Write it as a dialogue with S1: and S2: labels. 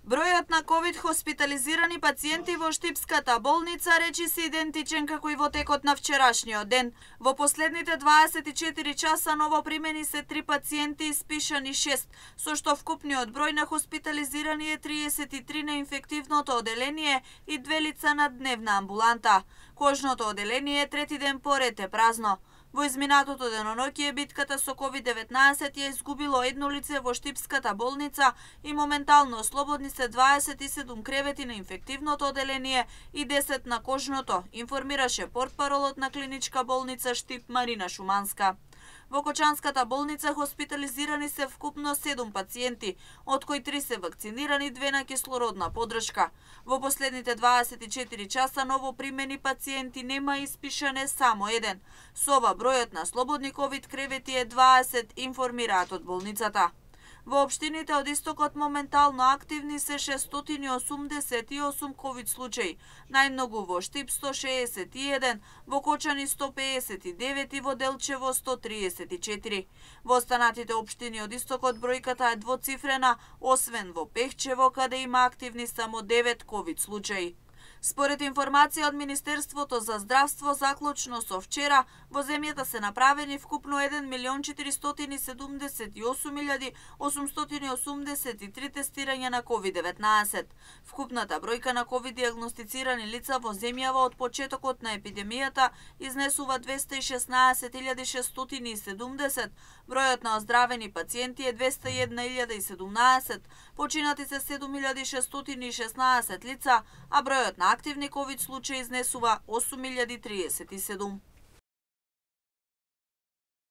S1: Бројот на ковид хоспитализирани пациенти во Штипската болница речи се идентичен како и во текот на вчерашниот ден. Во последните 24 часа новопримени се 3 пациенти и спишани 6, со што вкупниот број на хоспитализирани е 33 на инфективното оделение и 2 лица на дневна амбуланта. Кожното оделение трети ден поред е празно. Во изминатото деноноќе битката со COVID-19 ја изгубило едно лице во Штипската болница и моментално слободни се 27 кревети на инфективното оделение и 10 на кожното, информираше портпаролот на клиничка болница Штип Марина Шуманска. Во Кочанската болница хоспитализирани се вкупно 7 пациенти, од кои 3 се вакцинирани, 2 на кислородна подршка. Во последните 24 часа новопримени пациенти нема испишане само еден. Со ова бројот на слободни ковид кревети е 20, информираат од болницата. Во општините од истокот моментално активни се 688 ковид случаи, најмногу во Штип 161, во Кочани 159 и во Делчево 134. Во останатите општини од истокот бројката е двоцифрена, освен во Пехчево, каде има активни само 9 ковид случаи. Според информација од Министерството за здравство, заклучно со вчера, во земјата се направени вкупно 1.478.883 тестирања на COVID-19. Вкупната бројка на COVID диагностицирани лица во земјава од почетокот на епидемијата изнесува 216.670, бројот на оздравени пациенти е 201.017, починати се 7.616 лица, а бројот на активни ковид случаи изнесува 8.037.